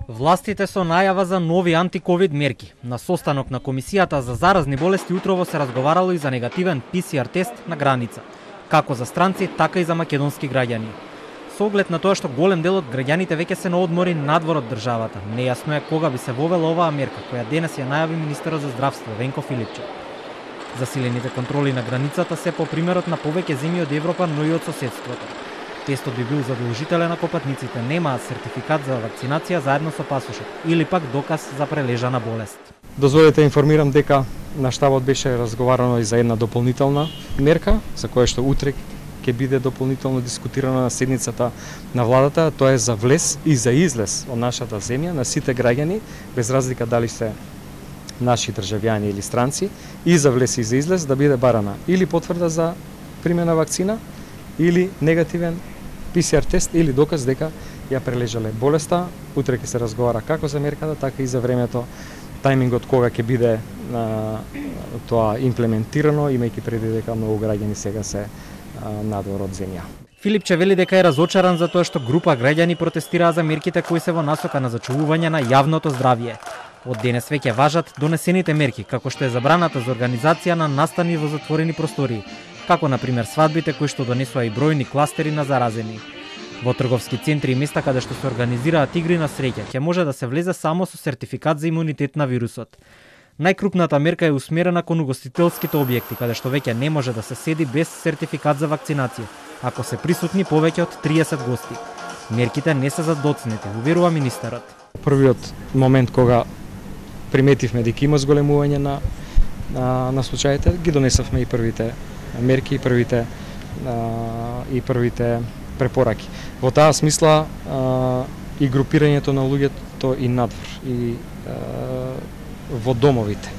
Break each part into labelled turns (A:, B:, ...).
A: Властите со најава за нови антиковид мерки. На состанок на Комисијата за заразни болести утрово се разговарало и за негативен ПСР тест на граница, како за странци, така и за македонски граѓани. Со оглед на тоа што голем дел од граѓаните веќе се на одмори надвор од државата, нејасно е кога би се вовела оваа мерка, која денес ја најави министерот за здравство Венко Филипче. Засилените контроли на границата се по примерот на повеќе земји од Европа, но и од соседството. Тестот би бил задолжителен ако патниците немаат сертификат за вакцинација заедно со пасошот или пак доказ за прележана болест.
B: Дозволете информирам дека на штабот беше разговарано и за една дополнителна мерка, за која што утре ќе биде дополнително дискутирана на седницата на владата, тоа е за влез и за излез од нашата земја на сите граѓани, без разлика дали се наши државјани или странци, и за влез и за излез да биде барана или потврда за примена вакцина или негативен ПСР тест или доказ дека ја прележале болеста. Утре ќе се разговара како за мерката, така и за времето, тајмингот кога ќе биде тоа имплементирано, имајќи преди дека многу граѓани сега се надвор од земја.
A: Филипче вели дека е разочаран за тоа што група граѓани протестираа за мерките кои се во насока на зачувување на јавното здравје. Од денес веќе важат донесените мерки, како што е забраната за организација на настани во затворени простории, како на пример свадбите кои што донесува и бројни кластери на заразени. Во трговски центри и места каде што се организираат игри на среќа ќе може да се влезе само со сертификат за имунитет на вирусот. Најкрупната мерка е усмерена кон угостителските објекти, каде што веќе не може да се седи без сертификат за вакцинација, ако се присутни повеќе од 30 гости. Мерките не се за доцнети, уверува министерот.
B: Првиот момент кога приметивме дека има зголемување на случаите, ги донесавме и првите мерки и првите препораки. Во таа смисла и групирањето на луѓето и надвор и во домовите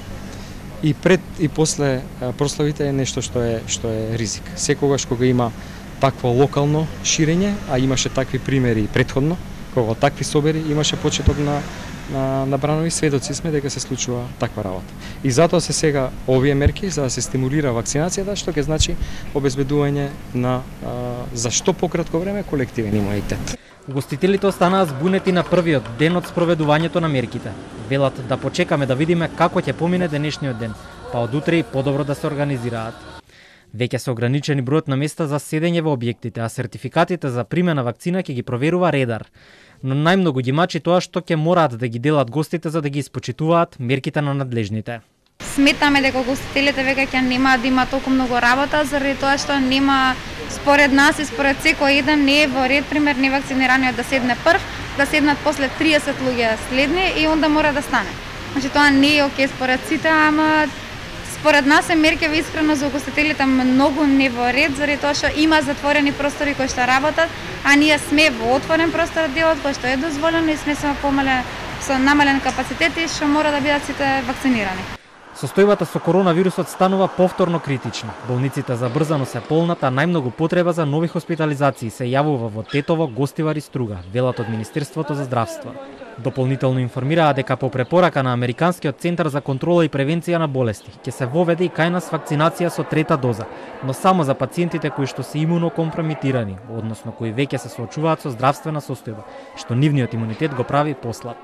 B: и пред и после прославите е нешто што е ризик. Секогаш кога има такво локално ширење, а имаше такви примери претходно, кога такви собери имаше почеток на бранови, сведоци сме дека се случува таква работа. И затоа се сега овие мерки за да се стимулира вакцинацијата, што ќе значи обезбедување на за што пократко време колективен имунитет.
A: Угостителите останаа збунети на првиот ден од спроведувањето на мерките. Велат да почекаме да видиме како ќе помине денешниот ден, па од утре и подобро да се организираат. Веќе се ограничени бројот на места за седење во објектите, а сертификатите за примена вакцина ќе ги проверува редар. Но најмногу ги мачи тоа што ќе мораат да ги делат гостите за да ги испочитуваат мерките на надлежните.
C: Сметаме дека гостителите веќе ќе немаат да има толку многу работа заради тоа што нема според нас и според секој еден не е во ред пример невакцинираниот да седне прв, да седнат после 30 луѓе следни и онда мора да стане. Значи тоа не е окей според сите, ама според нас е меркава искрено за гостителите многу не во ред, заради тоа што има затворени простори кои што работат, а ние сме во отворен простор делот кој што е дозволено и сме со намален капацитет и што мора да бидат сите вакцинирани.
A: Состојбата со коронавирусот станува повторно критична. Болниците забрзано се полнат, а најмногу потреба за нови хоспитализации се јавува во Тетово, Гостивар и Струга, велат од Министерството за здравство. Дополнително информираа дека по препорака на Американскиот центар за контрола и превенција на болести ќе се воведе и кај нас вакцинација со трета доза, но само за пациентите кои што се имунокомпромитирани, односно кои веќе се соочуваат со здравствена состојба, што нивниот имунитет го прави послаб.